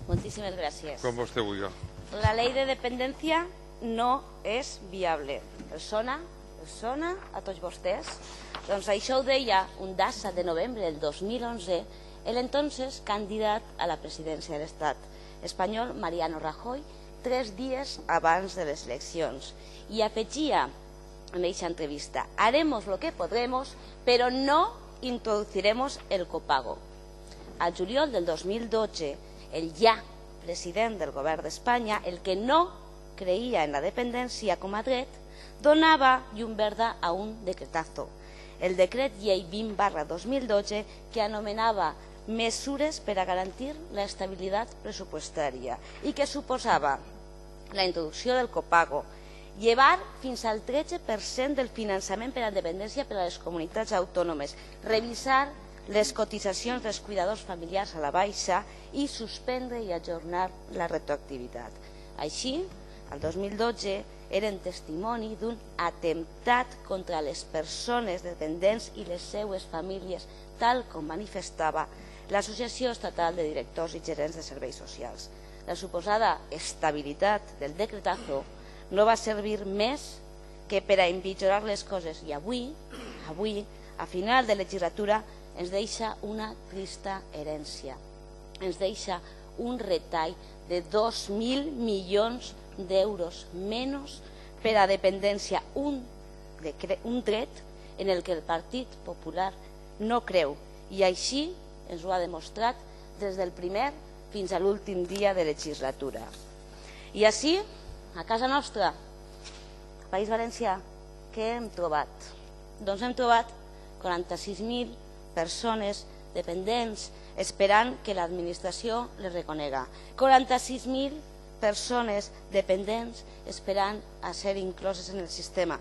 Moltíssimes gràcies. Com vostè vulgui. La llei de dependència no és viable. Els sona a tots vostès? Doncs això ho deia un data de novembre del 2011 l'entonces candidat a la presidència de l'Estat espanyol, Mariano Rajoy, 3 dies abans de les eleccions. I afegia en aquesta entrevista: haremos lo que podremos, pero no introduciremos el copago. Al juliol del 2012, el ja president del govern d'Espanya, el que no creia en la dependència com a dret, donava llum verda a un decretazo, el decret llei 20/2012, que anomenava mesures per a garantir l'estabilitat pressupostària i que suposava la introducció del copago, llevar fins al 13% del finançament per a dependència per a les comunitats autònomes, revisar les cotitzacions dels cuidadors familiars a la baixa i suspendre i ajornar la retroactivitat. Així, el 2012 eren testimoni d'un atemptat contra les persones dependents i les seues famílies, tal com manifestava l'Associació Estatal de Directors i Gerents de Serveis Socials. La suposada estabilitat del decretazo no va servir més que per a empitjorar les coses i avui, a final de legislatura, ens deixa una trista herència. Ens deixa un retall de 2.000 milions d'euros menys per a dependència, un dret en el que el Partit Popular no creu, i així ens ho ha demostrat des del primer fins a l'últim dia de legislatura. I així, a casa nostra, al País Valencià, què hem trobat? Doncs hem trobat 46.000 persones dependents esperant que l'administració les reconega. 46.000 persones dependents esperant a ser incloses en el sistema.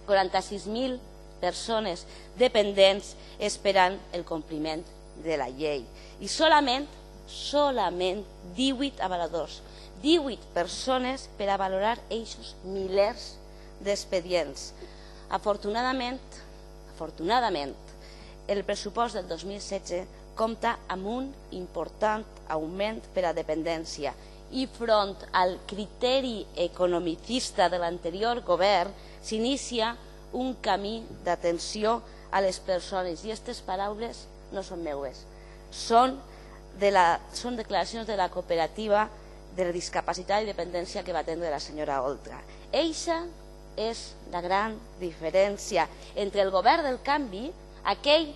46.000 persones dependents esperant el compliment de la llei. I solament 18 avaladors, 18 persones per a valorar aquests milers d'expedients. Afortunadament, el pressupost del 2016 compta amb un important augment per a dependència i front al criteri economicista de l'anterior govern s'inicia un camí d'atenció a les persones. I aquestes paraules no són meues, són declaracions de la cooperativa de la discapacitat i dependència que va atendre la senyora Oltra. Eixa és la gran diferència entre el govern del canvi, aquell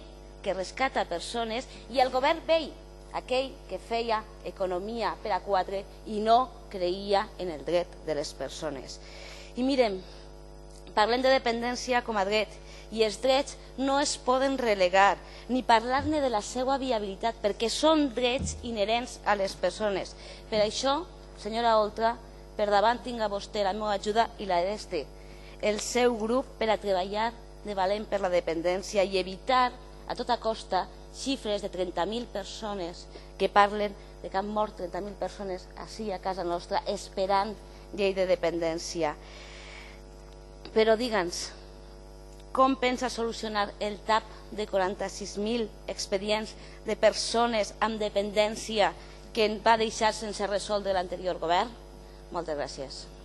que rescata persones, i el govern vell, aquell que feia economia per a 4 i no creia en el dret de les persones. I mirem, parlem de dependència com a dret, i els drets no es poden relegar ni parlar-ne de la seva viabilitat, perquè són drets inherents a les persones. Per això, senyora Oltra, per davant tinga vostè la meva ajuda i la del seu grup per a treballar de valent per la dependència i evitar a tota costa xifres de 30.000 persones que parlen de que han mort 30.000 persones així a casa nostra esperant llei de dependència. Però digue'ns, com pensa solucionar el tap de 46.000 expedients de persones amb dependència que va deixar sense resoldre l'anterior govern? Moltes gràcies.